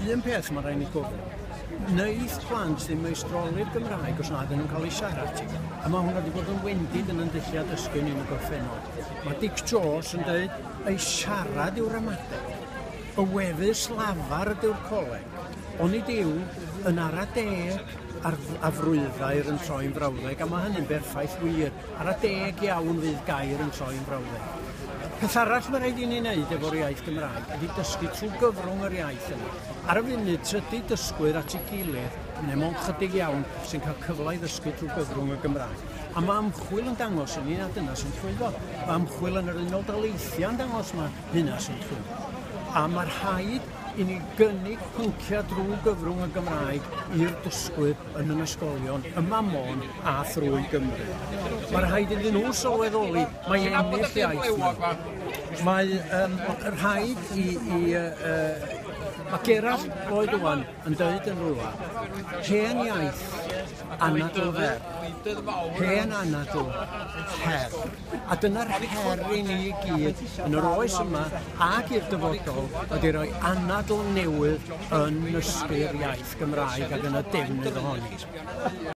Un peth mae rhaid ni gofio, wneith plant ddim meistroli'r Gymraeg os nad ydyn nhw'n cael ei siarad hi. A mae hwnna wedi bod yn wendid yn ein dulliau dysgu ni yn y gorffennol. Mae Dic Jones yn dweud, ei siarad yw'r ramadeg. Y wefus lafar ydyw'r coleg. Onid yw yn ara deg ar afrwyddair yn troi'n frawddeg, a mae hynny'n berffaith wir. Ara deg iawn fydd gair yn troi'n frawddeg. Peth arall mae rhaid i ni wneud efo'r iaith Gymraeg ydy dysgu trwy gyfrwng yr iaith yna. Ar y funud, tydi dysgwyr at ei gilydd, neu mond chydig iawn, sy'n cael cyfle i ddysgu trwy gyfrwng y Gymraeg. A mae ymchwil yn dangos i ni na dyna sy'n llwyddo. Mae ymchwil yn yr Unol Daleithiau yn dangos mae hynna sy'n llwyddo. A mae rhaid i ni gynnig pynciau drwy gyfrwng y Gymraeg i'r dysgwyr yn yn ysgolion yma Môn a thrwy Gymru. Mae rhaid iddyn nhw sylweddoli mae ennill iaith nhw. Mae rhaid i mae Gerallt Lloyd Owen yn dweud yn rhywle, hen iaith, anadl fer, hen anadl, her. A dyna'r her i ni i gyd yn yr oes yma ac i'r dyfodol ydy rhoi anadl newydd yn nysgu'r iaith Gymraeg ac yn y defnydd ohoni.